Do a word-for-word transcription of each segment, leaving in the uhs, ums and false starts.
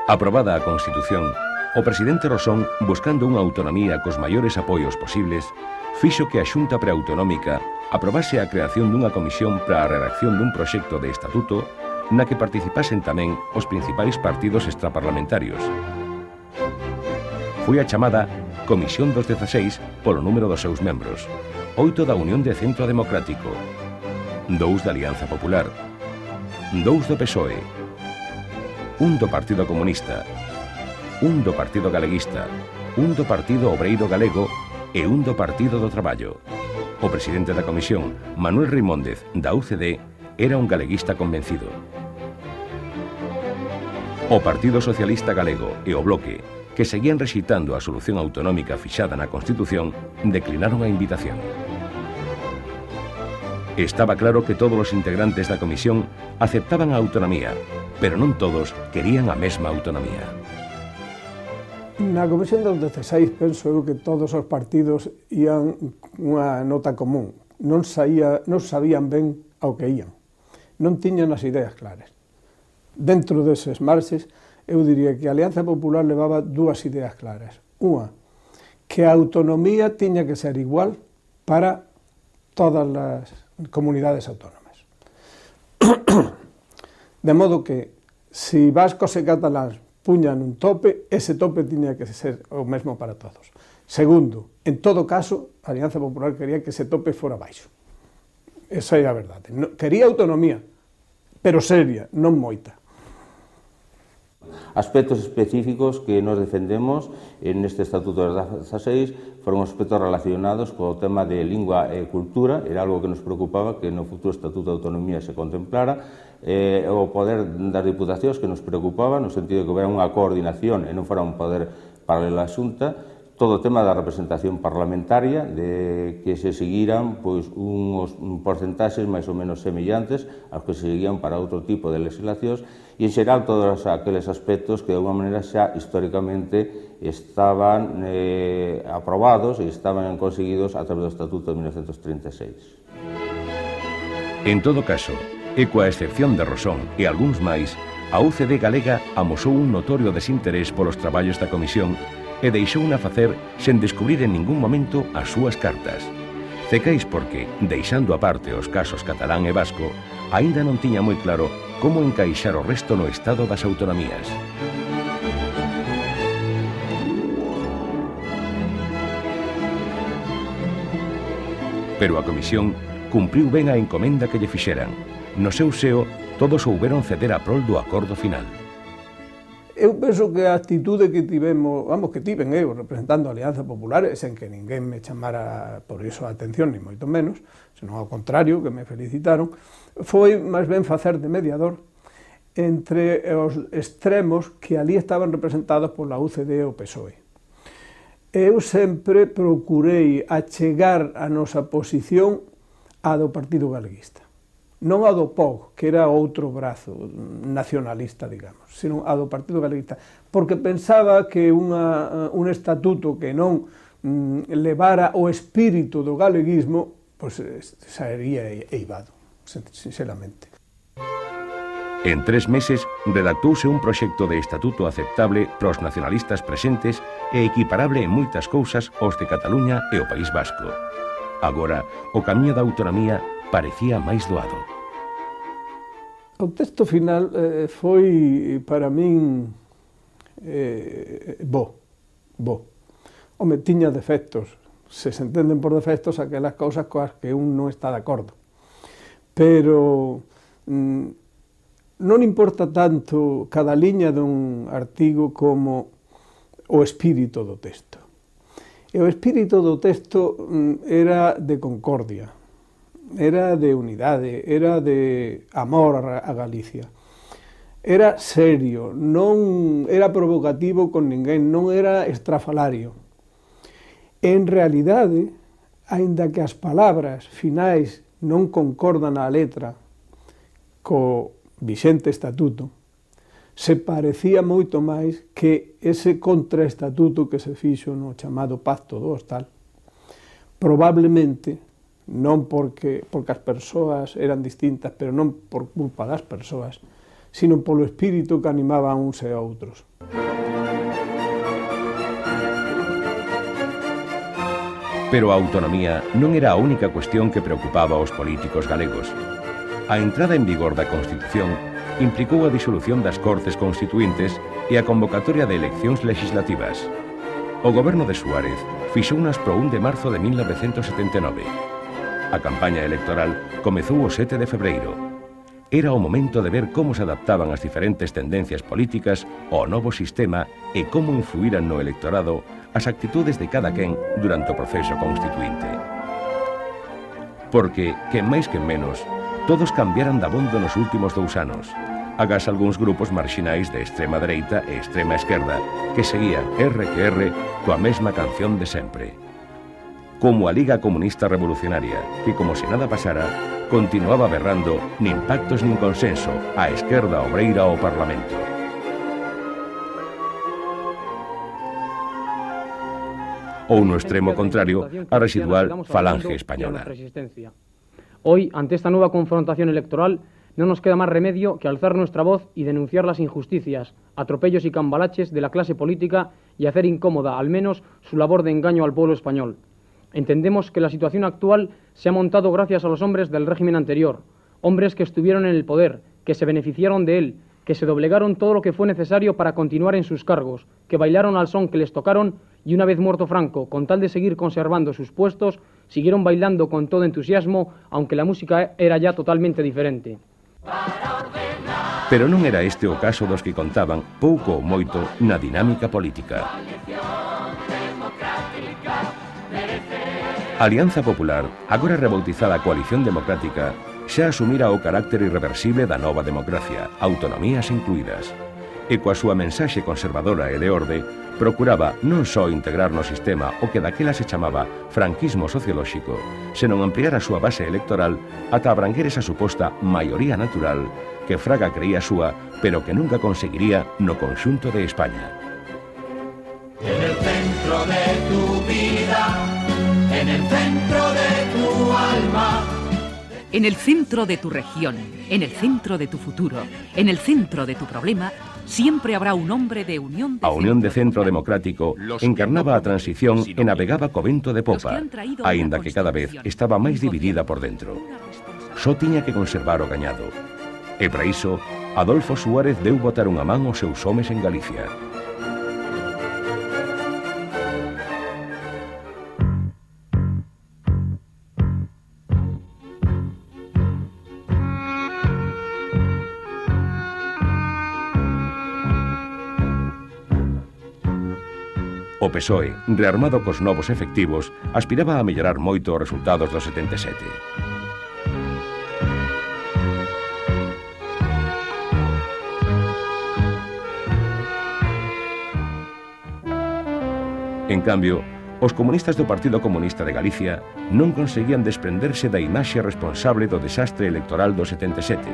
Aprobada a Constitución, o presidente Rosón, buscando unha autonomía cos maiores apoios posibles, fixo que a Xunta Preautonómica aprobase a creación dunha comisión para a redacción dun proxecto de estatuto na que participasen tamén os principais partidos extraparlamentarios. Foi a chamada Comisión dos dezaseis polo número dos seus membros, oito da Unión de Centro Democrático, dous da Alianza Popular, dous do P S O E, un do Partido Comunista, un do Partido Galeguista, un do Partido Obreiro Galego e un do Partido do Traballo. O presidente da comisión, Manuel Reimóndez, da U C D, era un galeguista convencido. O Partido Socialista Galego e o Bloque, que seguían rexeitando a solución autonómica fixada na Constitución, declinaron a invitación. Estaba claro que todos os integrantes da comisión aceptaban a autonomía, pero non todos querían a mesma autonomía. Na Comisión dos dezaseis penso eu que todos os partidos ían unha nota común, non, saía, non sabían ben ao que ían, non tiñan as ideas claras. Dentro deses marxes, eu diría que a Alianza Popular levaba dúas ideas claras. Unha, que a autonomía tiña que ser igual para todas as comunidades autónomas. De modo que, se vascos e cataláns puñan un tope, ese tope tiña que ser o mesmo para todos. Segundo, en todo caso, a Alianza Popular quería que ese tope fora baixo. Esa é a verdade. Quería autonomía, pero seria, non moita. Aspectos específicos que nos defendemos neste Estatuto dos dezaseis foron aspectos relacionados co tema de lingua e cultura, era algo que nos preocupaba que no futuro Estatuto de Autonomía se contemplara, eh, o poder das diputacións que nos preocupaba, no sentido de que houbera unha coordinación e non fora un poder paralelo á Xunta, todo o tema da representación parlamentaria, de que se seguiran pois, uns porcentaxes máis ou menos semellantes aos que se seguían para outro tipo de legislacións, e en xeral todos aqueles aspectos que de alguma maneira xa históricamente estaban eh, aprobados e estaban conseguidos a través do Estatuto de mil novecentos trinta e seis. En todo caso, e coa excepción de Rosón e algúns máis, a U C D galega amosou un notorio desinterés polos traballos da comisión e deixouna facer sen descubrir en ningún momento as súas cartas. Cecais porque, deixando aparte os casos catalán e vasco, aínda non tiña moi claro como encaixar o resto no estado das autonomías. Pero a comisión cumpriu ben a encomenda que lle fixeran. No seu seo, todos souberon ceder a prol do acordo final. Eu penso que a actitude que tivemos, vamos, que tiven eu representando a Alianza Popular, sen que ninguén me chamara por iso a atención, ni moito menos, senón ao contrario, que me felicitaron, foi máis ben facer de mediador entre os extremos que ali estaban representados pola U C D e o P S O E. Eu sempre procurei achegar a nosa posición á do Partido Galeguista. Non a do P O G, que era outro brazo nacionalista, digamos, sino a do Partido Galeguista, porque pensaba que unha, un estatuto que non mm, levara o espírito do galeguismo, pois sería eivado, sinceramente. En tres meses redactouse un proxecto de estatuto aceptable para os nacionalistas presentes e equiparable en moitas cousas aos de Cataluña e o País Vasco. Agora, o camiño da autonomía parecía máis doado. O texto final eh, foi, para min, eh, bo, bo. Home, tiña defectos. Se se entenden por defectos aquelas cousas coas que un non está de acordo. Pero mm, non importa tanto cada liña dun artigo como o espírito do texto. E o espírito do texto mm, era de concordia, era de unidade, era de amor a Galicia. Era serio, non era provocativo con ninguén, non era estrafalario. En realidade, aínda que as palabras finais non concordan á letra co vixente estatuto, se parecía moito máis que ese contraestatuto que se fixo no chamado Pacto do Hostal, probablemente, non porque, porque as persoas eran distintas, pero non por culpa das persoas, sino polo espírito que animaba a uns e a outros. Pero a autonomía non era a única cuestión que preocupaba aos políticos galegos. A entrada en vigor da Constitución implicou a disolución das Cortes Constituíntes e a convocatoria de eleccións legislativas. O goberno de Suárez fixounas pro un de marzo de mil novecentos setenta e nove. A campaña electoral comezou o sete de febreiro. Era o momento de ver como se adaptaban as diferentes tendencias políticas ao novo sistema e como influíran no electorado as actitudes de cada quen durante o proceso constituinte. Porque, quen máis que menos, todos cambiaran dabondo nos últimos dous anos, agás algúns grupos marxinais de extrema dereita e extrema esquerda que seguían erre que erre coa mesma canción de sempre. Como a Liga Comunista Revolucionaria, que como se nada pasara, continuaba berrando nin pactos nin consenso a esquerda obreira ao Parlamento. Ou no extremo contrario, a residual Falange Española. Hoy, ante esta nueva confrontación electoral, no nos queda más remedio que alzar nuestra voz y denunciar las injusticias, atropellos y cambalaches de la clase política y hacer incómoda, al menos, su labor de engaño al pueblo español. Entendemos que la situación actual se ha montado gracias a los hombres del régimen anterior, hombres que estuvieron en el poder, que se beneficiaron de él, que se doblegaron todo lo que fue necesario para continuar en sus cargos, que bailaron al son que les tocaron y una vez muerto Franco, con tal de seguir conservando sus puestos, siguieron bailando con todo entusiasmo, aunque la música era ya totalmente diferente. Pero non era este o caso dos que contaban, pouco ou moito, na dinámica política. A Alianza Popular, agora rebautizada Coalición Democrática, xa asumira o carácter irreversible da nova democracia, autonomías incluídas. E coa súa mensaxe conservadora e de orde, procuraba non só integrar no sistema o que daquela se chamaba franquismo sociolóxico, senón ampliar a súa base electoral ata abranguer esa suposta maioría natural que Fraga creía súa, pero que nunca conseguiría no conxunto de España. En el centro de tu vida, en el centro de tu alma, en el centro de tu región, en el centro de tu futuro, en el centro de tu problema, siempre habrá un hombre de Unión de A Unión de Centro Democrático encarnaba a transición e navegaba co vento de popa, aínda que cada vez estaba máis dividida por dentro. Só tiña que conservar o gañado. E para iso, Adolfo Suárez deu botar unha man aos seus homes en Galicia. O P S O E, rearmado cos novos efectivos, aspiraba a mellorar moito os resultados do setenta e sete. En cambio, os comunistas do Partido Comunista de Galicia non conseguían desprenderse da imaxe responsable do desastre electoral do setenta e sete,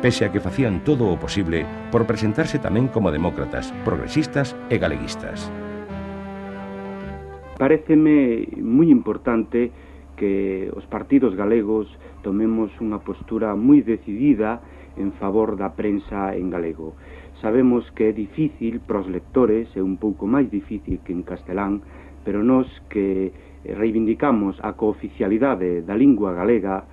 pese a que facían todo o posible por presentarse tamén como demócratas, progresistas e galeguistas. Paréceme moi importante que os partidos galegos tomemos unha postura moi decidida en favor da prensa en galego. Sabemos que é difícil para os lectores, é un pouco máis difícil que en castelán, pero nós que reivindicamos a cooficialidade da lingua galega,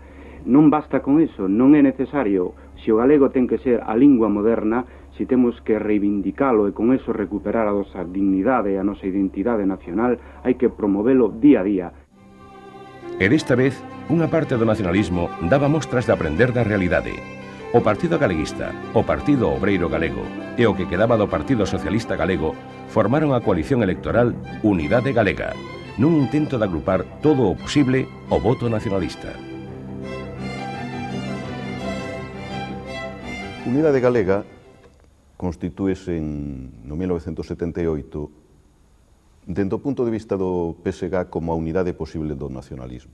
non basta con eso, non é necesario. Se o galego ten que ser a lingua moderna, se temos que reivindicalo e con eso recuperar a nosa dignidade e a nosa identidade nacional, hai que promovelo día a día. E desta vez, unha parte do nacionalismo daba mostras de aprender da realidade. O Partido Galeguista, o Partido Obreiro Galego e o que quedaba do Partido Socialista Galego formaron a coalición electoral Unidade Galega, nun intento de agrupar todo o posible o voto nacionalista. Unidade Galega constitúese en, no mil novecentos setenta e oito dentro do punto de vista do P S G como a unidade posible do nacionalismo.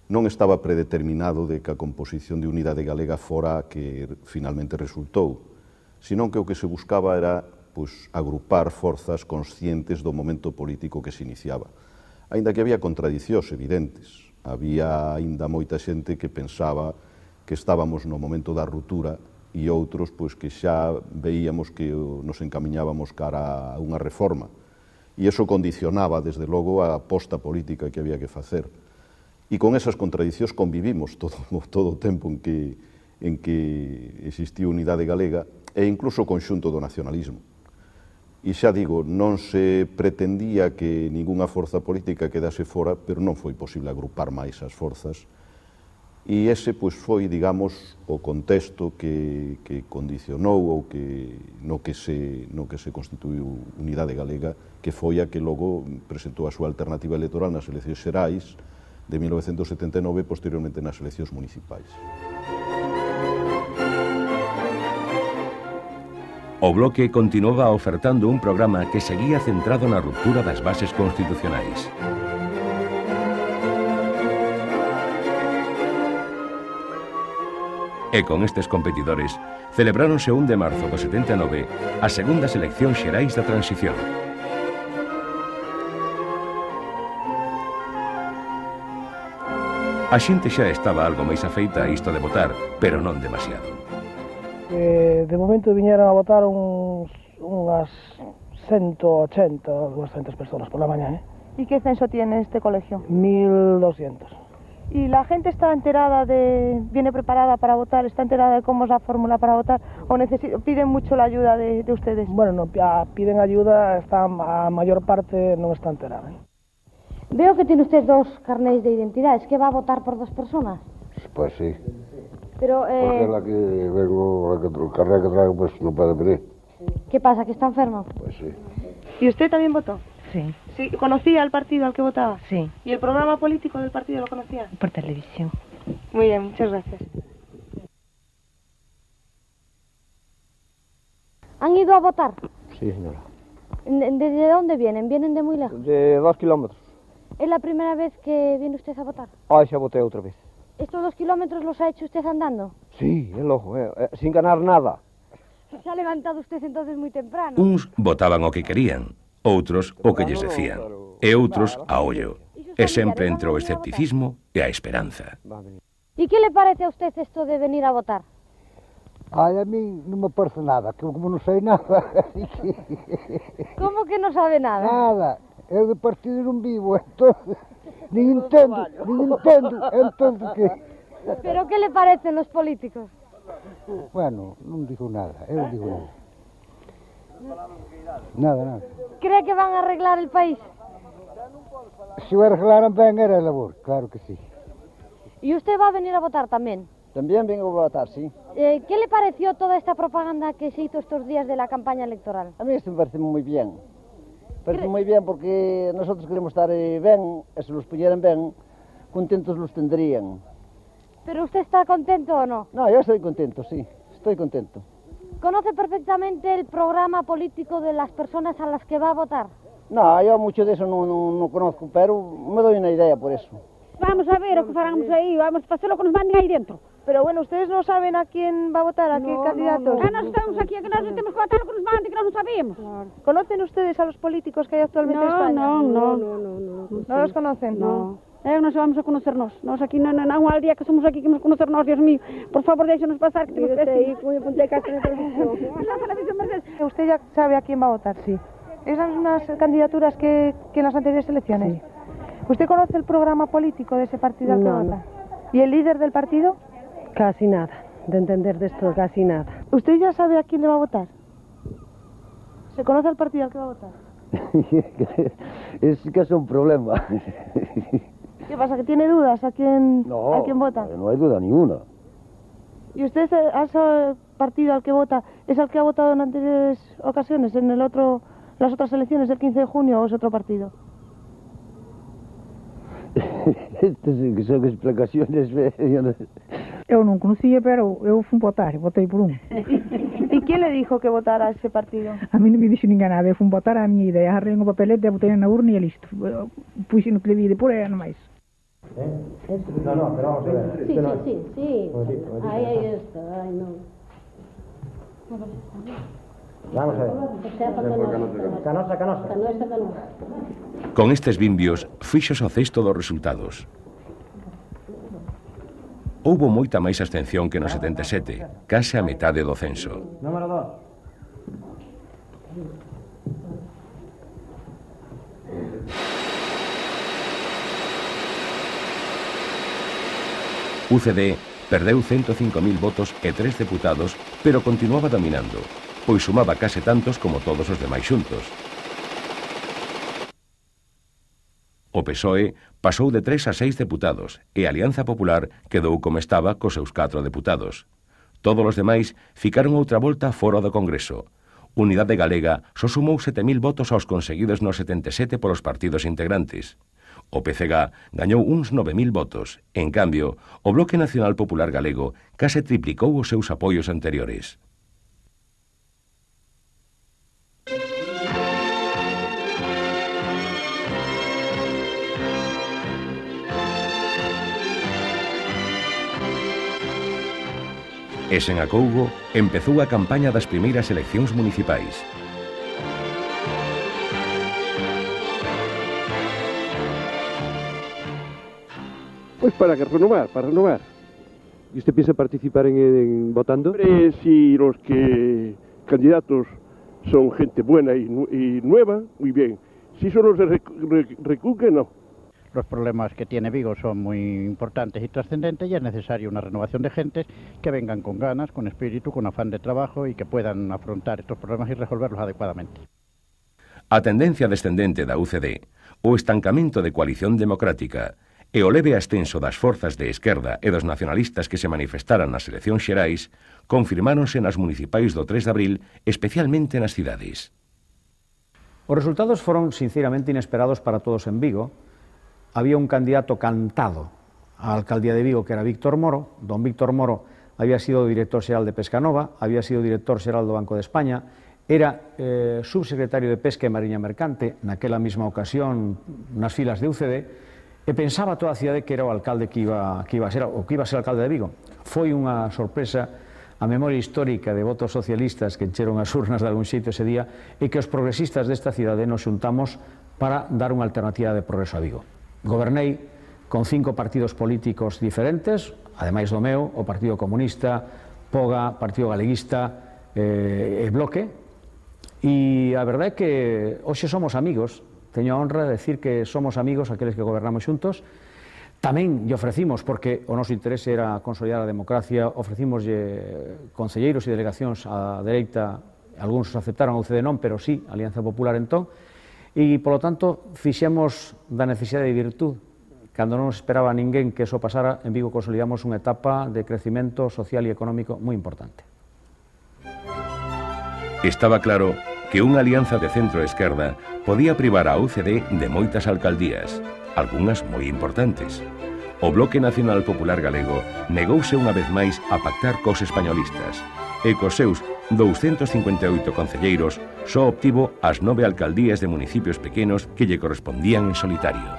Non estaba predeterminado de que a composición de Unidade Galega fora a que finalmente resultou, senón que o que se buscaba era pois, agrupar forzas conscientes do momento político que se iniciaba. Aínda que había contradicións evidentes, había aínda moita xente que pensaba que estábamos no momento da ruptura e outros pois, que xa veíamos que nos encamiñábamos cara a unha reforma. e iso condicionaba, desde logo, a aposta política que había que facer. E con esas contradicións convivimos todo, todo o tempo en que, en que existía unidade galega e incluso o conxunto do nacionalismo. E xa digo, non se pretendía que ningunha forza política quedase fora, pero non foi posible agrupar máis as forzas. E ese pois, foi, digamos, o contexto que, que condicionou ou que, no, que se, no que se constituiu Unidade Galega, que foi a que logo presentou a súa alternativa electoral nas eleccións xerais de mil novecentos setenta e nove e posteriormente nas eleccións municipais. O Bloque continuaba ofertando un programa que seguía centrado na ruptura das bases constitucionais. E con estes competidores, celebráronse o un de marzo do setenta e nove as segundas eleccións xerais da transición. A xente xa estaba algo máis afeita a isto de votar, pero non demasiado. Eh, de momento viñeron a votar uns, unhas ciento ochenta ou doscientas personas por la mañana. ¿eh? ¿Y qué censo tiene este colegio? mil doscientos. ¿Y la gente está enterada de, viene preparada para votar, está enterada de cómo es la fórmula para votar o piden mucho la ayuda de, de ustedes? Bueno, no, piden ayuda, está, a mayor parte no está enterada. ¿eh? Veo que tiene usted dos carnets de identidad, ¿es que va a votar por dos personas? Pues sí. Pero, eh... Porque la que vengo, la que, el carnet que traigo, pues no puede venir. ¿Qué pasa, que está enfermo? Pues sí. ¿Y usted también votó? Sí. Sí. ¿Conocía al partido al que votaba? Sí. ¿Y el programa político del partido lo conocía? Por televisión. Muy bien, muchas gracias. ¿Han ido a votar? Sí, señora. ¿Desde dónde vienen? ¿Vienen de muy lejos? De dos kilómetros. ¿Es la primera vez que viene usted a votar? Ah, xa voté outra vez. ¿Estos dos kilómetros los ha hecho usted andando? Sí, é lojo, eh, eh, sin ganar nada. Se ha levantado usted entonces muy temprano. Uns votaban o que querían, outros o que lles decían, e outros a ollo. E sempre entre o escepticismo e a esperanza. ¿Y qué le parece a usted esto de venir a votar? Ai, a mí non me parece nada, que como non sei nada. ¿Cómo que no sabe nada? Nada, eu de partido non vivo, entonces... Nin entendo, nin entendo, entendo que... ¿Pero qué le parecen los políticos? Bueno, non digo nada, eu digo nada. Nada, nada. ¿Cree que van a arreglar el país? Se o arreglaran ben era labor, claro que sí. ¿Y usted va a venir a votar también? También vengo a votar, sí. Eh, ¿Qué le pareció toda esta propaganda que se hizo estos días de la campaña electoral? A mí esto me parece muy bien. Parece moi ben porque nosotros queremos estar ben, e se los puñeran ben, contentos los tendrían. ¿Pero usted está contento o no? No, yo estoy contento, sí, estoy contento. ¿Conoce perfectamente el programa político de las personas a las que va a votar? No, yo mucho de eso no, no, no conozco, pero me doy una idea por eso. Vamos a ver o que faramos aí, vamos a facer o que nos manden aí dentro. Pero bueno, ustedes no saben a quién va a votar, a no, qué candidatos. No, no. Ah, nós estamos aquí, que nós temos que votar o que nos manden, que nós non sabemos. Claro. ¿Conocen ustedes a los políticos que hay actualmente no, en España? No, no, no, no, no. ¿No, ¿No los conocen? No. Eh, non se vamos a conocernos. Nós aquí non, non, non, al día que somos aquí que nos conocernos, Dios mío. Por favor, déixenos pasar, que temos que ir. Usted ya sabe a quién va a votar, sí. Esas son unas candidaturas que, que en las anteriores elecciones. Sí. ¿Usted conoce el programa político de ese partido al que no, vota? ¿Y el líder del partido? Casi nada, de entender de esto casi nada. ¿Usted ya sabe a quién le va a votar? ¿Se conoce el partido al que va a votar? Es que es un problema. ¿Qué pasa, que tiene dudas a quién, no, a quién vota? No hay duda ninguna. ¿Y usted, a ese partido al que vota, es el que ha votado en anteriores ocasiones, en el otro, las otras elecciones del quince de junio, o es otro partido? Estas son explicaciones. Eu non conocía, pero eu fui votar, votei por un. ¿Y quién le dijo que votara a ese partido? A mí non me dixo ninguén nada, eu fui votar a miña idea, arrei un papelete, botei na urna e listo. Puxe no que le vi de por aí, non máis. ¿Eh? No, no, pero vamos a ver. Sí, sí, sí, sí. Ahí, ahí está, ay no. Vamos a ver. Canosa, canosa. Canosa, canosa. Con estes bimbios, fíxose o cesto dos resultados. Houbo moita máis abstención que no setenta e sete, case a metade do censo. Número dos. U C D perdeu ciento cinco mil votos e tres deputados, pero continuaba dominando, pois sumaba case tantos como todos os demais xuntos. O P S O E pasou de tres a seis deputados e a Alianza Popular quedou como estaba cos seus catro deputados. Todos os demais ficaron outra volta fora do Congreso. Unidade Galega só sumou sete mil votos aos conseguidos nos setenta e sete polos partidos integrantes. O P C G gañou uns nove mil votos. En cambio, o Bloque Nacional Popular Galego case triplicou os seus apoios anteriores. E sen acougo, empezou a campaña das primeiras eleccións municipais. Pois para que renovar, para renovar. ¿Y usted piensa participar en, en votando? Hombre, si los que candidatos son gente buena y, y nueva, muy bien. Si son los de rec rec recuque, no. Los problemas que tiene Vigo son muy importantes y trascendentes y es necesaria una renovación de gentes que vengan con ganas, con espíritu, con afán de trabajo y que puedan afrontar estos problemas y resolverlos adecuadamente. A tendencia descendente da U C D, o estancamento de Coalición Democrática e o leve ascenso das forzas de esquerda e dos nacionalistas que se manifestaran nas eleccións xerais confirmáronse nas municipais do tres de abril, especialmente nas cidades. Os resultados foron sinceramente inesperados para todos en Vigo. Había un candidato cantado á alcaldía de Vigo que era Víctor Moro. Don Víctor Moro había sido director xeral de Pescanova, había sido director xeral do Banco de España, era eh, subsecretario de Pesca e Mariña Mercante naquela mesma ocasión nas filas de U C D, e pensaba toda a cidade que era o alcalde que iba, que iba a ser, o que iba a ser alcalde de Vigo. Foi unha sorpresa a memoria histórica de votos socialistas que encheron as urnas de algún xeito ese día e que os progresistas desta cidade nos xuntamos para dar unha alternativa de progreso a Vigo. Gobernei con cinco partidos políticos diferentes, ademais do meu, o Partido Comunista, Poga, Partido Galeguista eh, e Bloque, e a verdade é que hoxe somos amigos. Teño a honra de decir que somos amigos aqueles que gobernamos xuntos. Tamén lle ofrecimos, porque o noso interese era consolidar a democracia, ofrecimos concelleiros e delegacións á dereita, algúns aceptaron, a U C D non, pero sí, a Alianza Popular entón, e, polo tanto, fixemos da necesidade de virtud. Cando non nos esperaba ninguén que eso pasara, en Vigo consolidamos unha etapa de crecimento social e económico moi importante. Estaba claro que unha alianza de centro-esquerda podía privar a U C D de moitas alcaldías, algunhas moi importantes. O Bloque Nacional Popular Galego negouse unha vez máis a pactar cos españolistas e cos seus douscentos cincuenta e oito concelleiros só obtivo as nove alcaldías de municipios pequenos que lle correspondían en solitario.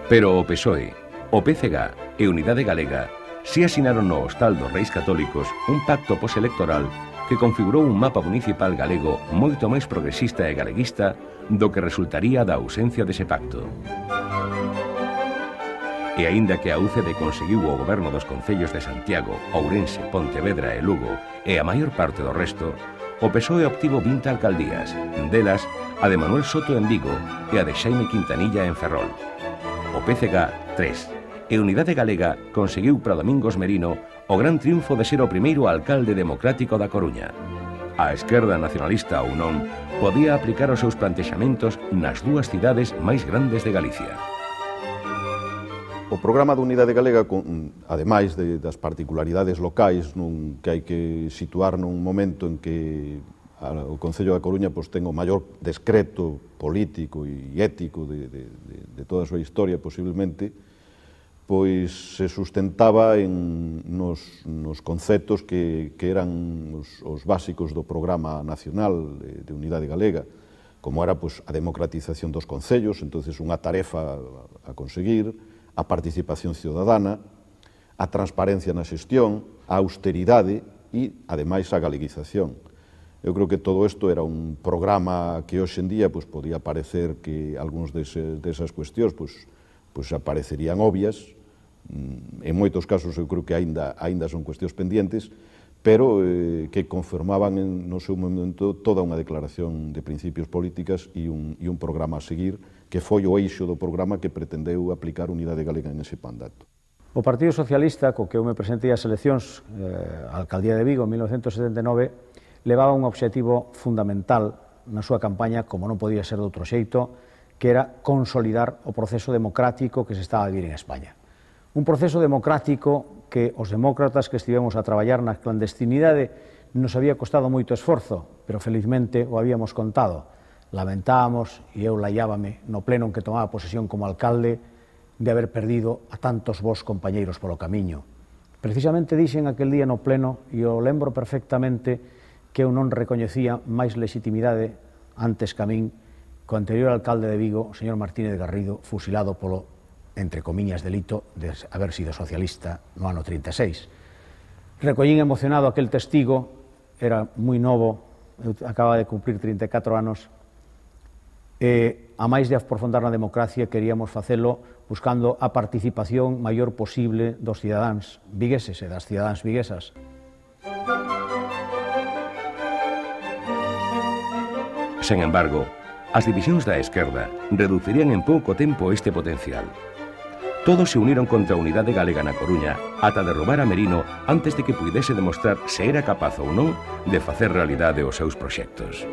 Pero o P S O E, o P C G e Unidade Galega si asinaron no Hostal dos Reis Católicos un pacto postelectoral que configurou un mapa municipal galego moito máis progresista e galeguista do que resultaría da ausencia dese pacto. E aínda que a U C D conseguiu o goberno dos concellos de Santiago, Ourense, Pontevedra e Lugo e a maior parte do resto, o P S O E obtivo vinte alcaldías, delas a de Manuel Soto en Vigo e a de Xaime Quintanilla en Ferrol. O P C G, tres. E Unidade Galega conseguiu para Domingos Merino o gran triunfo de ser o primeiro alcalde democrático da Coruña. A esquerda nacionalista ou non podía aplicar os seus plantexamentos nas dúas cidades máis grandes de Galicia. O programa da Unidade Galega, ademais de, das particularidades locais nun, que hai que situar nun momento en que a, o Concello da Coruña pois, ten o maior descreto político e ético de, de, de, de toda a súa historia, posiblemente, pois se sustentaba en, nos, nos conceptos que, que eran os, os básicos do programa nacional de, de Unidade Galega, como era pois, a democratización dos concellos, entonces unha tarefa a, a conseguir, a participación ciudadana, a transparencia na xestión, a austeridade e, ademais, a galeguización. Eu creo que todo isto era un programa que hoxe en día pois, podía parecer que algúns dese, desas cuestións pois, pois, aparecerían obvias. En moitos casos eu creo que aínda, aínda son cuestións pendientes, pero eh, que confirmaban en, no seu momento toda unha declaración de principios políticas e un, e un programa a seguir, que foi o eixo do programa que pretendeu aplicar Unidade Galega en ese mandato. O Partido Socialista, co que eu me presentei ás eleccións eh, a Alcaldía de Vigo en mil novecentos setenta e nove, levaba un obxectivo fundamental na súa campaña, como non podía ser de outro xeito, que era consolidar o proceso democrático que se estaba a vivir en España. Un proceso democrático que os demócratas que estivemos a traballar na clandestinidade nos había costado moito esforzo, pero felizmente o habíamos contado. Lamentábamos, e eu laiábame no pleno en que tomaba posesión como alcalde, de haber perdido a tantos vos compañeiros polo camiño. Precisamente dixen aquel día no pleno, e o lembro perfectamente, que eu non recoñecía máis legitimidade antes que a min co anterior alcalde de Vigo, o señor Martínez Garrido, fusilado polo, entre comiñas, delito de haber sido socialista no ano trinta e seis. Recollín emocionado aquel testigo, era moi novo, eu acababa de cumprir trinta e catro anos, e a máis de aprofundar na democracia queríamos facelo buscando a participación maior posible dos cidadáns vigueses e das cidadáns viguesas. Sen embargo, as divisións da esquerda reducirían en pouco tempo este potencial. Todos se uniron contra a Unidade Galega na Coruña ata derrubar a Merino antes de que puidese demostrar se era capaz ou non de facer realidade os seus proxectos.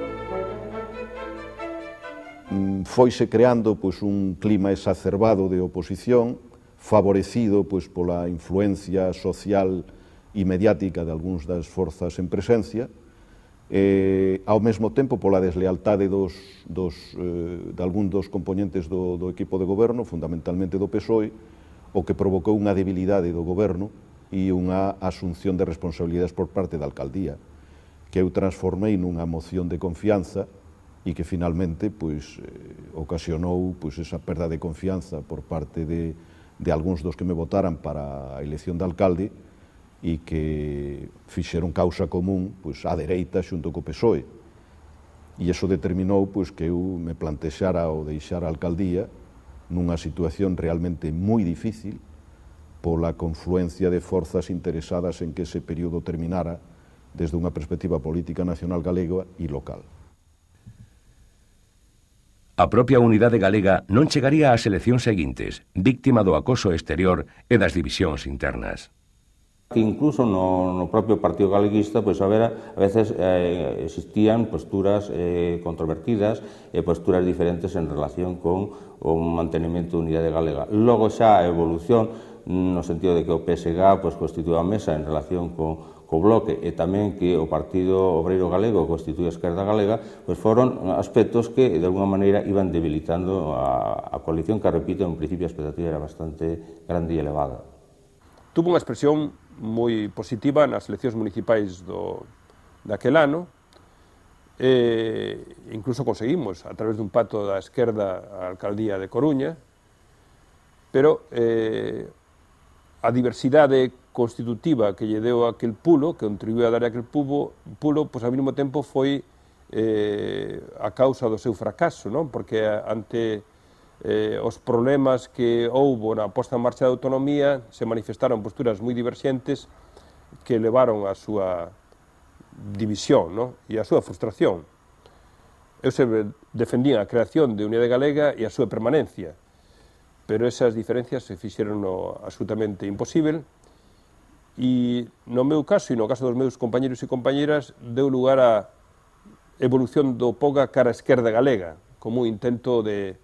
Foise creando pois, un clima exacerbado de oposición, favorecido pois, pola influencia social e mediática de algúns das forzas en presencia, e, ao mesmo tempo pola deslealtade dos, dos, eh, de algún dos componentes do, do equipo de goberno, fundamentalmente do P S O E, o que provocou unha debilidade do goberno e unha asunción de responsabilidades por parte da alcaldía, que eu transformei nunha moción de confianza e que finalmente pois, eh, ocasionou pois, esa perda de confianza por parte de, de algúns dos que me votaran para a elección de alcalde, e que fixeron causa común pois, á dereita xunto co P S O E. E iso determinou pois, que eu me plantexara o deixar a alcaldía nunha situación realmente moi difícil pola confluencia de forzas interesadas en que ese período terminara desde unha perspectiva política nacional galega e local. A propia Unidade Galega non chegaría ás eleccións seguintes, víctima do acoso exterior e das divisións internas. Que incluso no, no propio Partido Galeguista pues, a, ver, a veces eh, existían posturas eh, controvertidas e eh, posturas diferentes en relación con o mantenimento de unidade galega. Logo xa a evolución no sentido de que o P S G pues, constitúe a mesa en relación co, co bloque e tamén que o Partido Obreiro Galego constitúe a Esquerda Galega, pues foron aspectos que de alguna maneira iban debilitando a, a coalición que, repito, en principio a expectativa era bastante grande e elevada. Tuvo unha expresión moi positiva nas eleccións municipais do, daquel ano, e incluso conseguimos, a través dun pacto da esquerda, a alcaldía de Coruña, pero eh, a diversidade constitutiva que lle deu aquel pulo, que contribuiu a dar aquel pulo, pulo pois ao mesmo tempo foi eh, a causa do seu fracaso, non? Porque ante Eh, os problemas que houbo na posta en marcha da autonomía se manifestaron posturas moi diverxentes que levaron a súa división, no? E a súa frustración. Eu sempre defendín a creación de Unidade Galega e a súa permanencia, pero esas diferencias se fixeron no absolutamente imposible e no meu caso e no caso dos meus compañeros e compañeras deu lugar a evolución do P O G A cara a esquerda galega como un intento de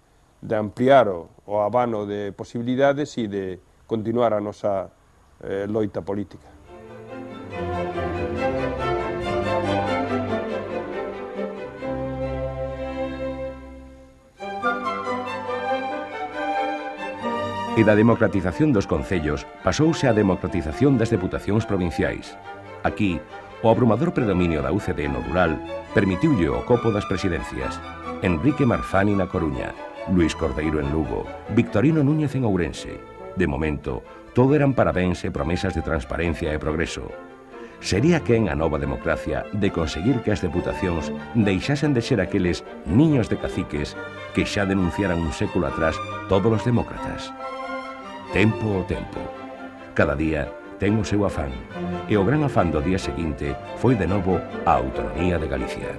de ampliar o, o abano de posibilidades e de continuar a nosa eh, loita política. E da democratización dos concellos pasouse á democratización das deputacións provinciais. Aquí, o abrumador predominio da U C D no rural permitiulle o copo das presidencias. Enrique Marzani na Coruña, Luis Cordeiro en Lugo, Victorino Núñez en Ourense. De momento, todo eran parabéns e promesas de transparencia e progreso. Sería quen a nova democracia de conseguir que as deputacións deixasen de ser aqueles niños de caciques que xa denunciaran un século atrás todos os demócratas. Tempo ao tempo. Cada día ten o seu afán, e o gran afán do día seguinte foi de novo a autonomía de Galicia.